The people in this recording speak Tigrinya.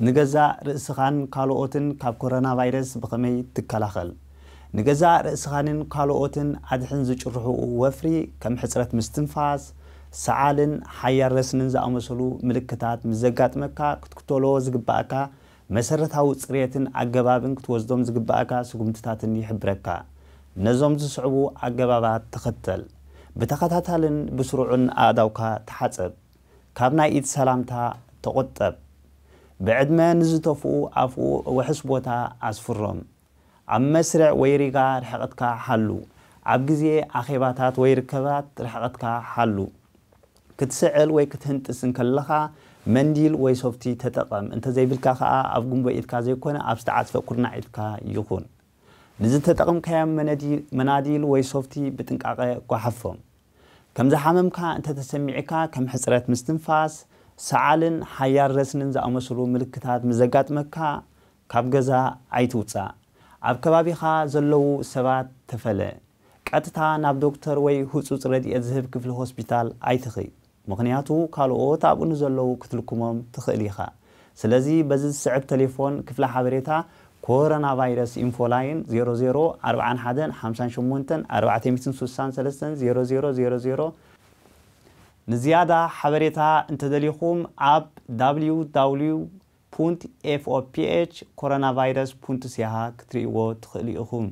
ንገዛእ ርእስኻን ካልኦትን ካብ ኮሮና ቫይረስ ብኸመይ ትከላኸል? ንገዛእ ርእስኻንን ካልኦትን ኣድሕን ዝጭርሑ ወፍሪ ከም ሕጽረት ምስትንፋስ፣ ሰዓልን ሓያል ረስንን ዝኣመሰሉ ምልክታት ምስ ዘጋጥመካ ክትክተሎ ዝግባእካ መሰረታዊ ጽሬትን ኣገባብን ክትወስዶም ዝግባእካ ስጉምትታትን ይሕብረካ። ነዞም ዝስዕቡ ኣገባባት ተኸተል። ብተኸታታልን ብስሩዕን ኣእዳውካ ተሓጸብ። ካብ ናይ ኢድ ሰላምታ ተቖጠብ። ብዕድመ ንዝተፍኡ ኣፍኡ ውሑስ ቦታ ኣስፍሮም። ኣብ መስርዕ ወይ ሪጋ ርሕቐትካ ሓሉ። ኣብ ግዜ ኣኼባታት ወይ ርከባት ርሕቐትካ ሓሉ። ክትስዕል ወይ ክትህንጥስ እንከለኻ መንዲል ወይ ሶፍቲ ተጠቐም። እንተዘይብልካ ከኣ ኣብ ጉንቦ ኢድካ ዘይኮነ ኣብ ዝተዓጽፈ ኩርናዕ ኢድካ ይኹን። ንዝተጠቐምካዮም መነዲ-፣ መናዲል ወይ ሶፍቲ ብጥንቃቐ ጓሓፎም። ከም ዝሓመምካ እንተተሰሚዕካ ከም ሕጽረት ምስትንፋስ፣ ሰዓልን ሓያል ረስንን ዝኣመሰሉ ምልክታት ምስ ዘጋጥመካ ካብ ገዛ ኣይትውጻእ። ኣብ ከባቢኻ ዘለዉ ሰባት ተፈለ። ቀጥታ ናብ ዶክተር ወይ ህጹጽ ረድኤት ዝህብ ክፍሊ ሆስፒታል ኣይትኺድ። ምኽንያቱ ካልኦት ኣብኡ ንዘለዉ ክትልክሞም ትኽእል ኢኻ። ስለዚ በዚ ዝስዕብ ቴሌፎን ክፍሊ ሓበሬታ ኮሮና ቫይረስ ኢንፎ ላይን ዜሮ ዜሮ ኣርብዓን ሓደን ሓምሳን ሸሞንተን ኣርባዕተ ሚእትን ስሳን ሰለስተን ዜሮ ዜሮ ዜሮ ዜሮ። ንዝያዳ ሓበሬታ እንተደሊኹም ኣብ www.foph coronavirus.ca ክትርእይዎ ትኽእሉ ኢኹም።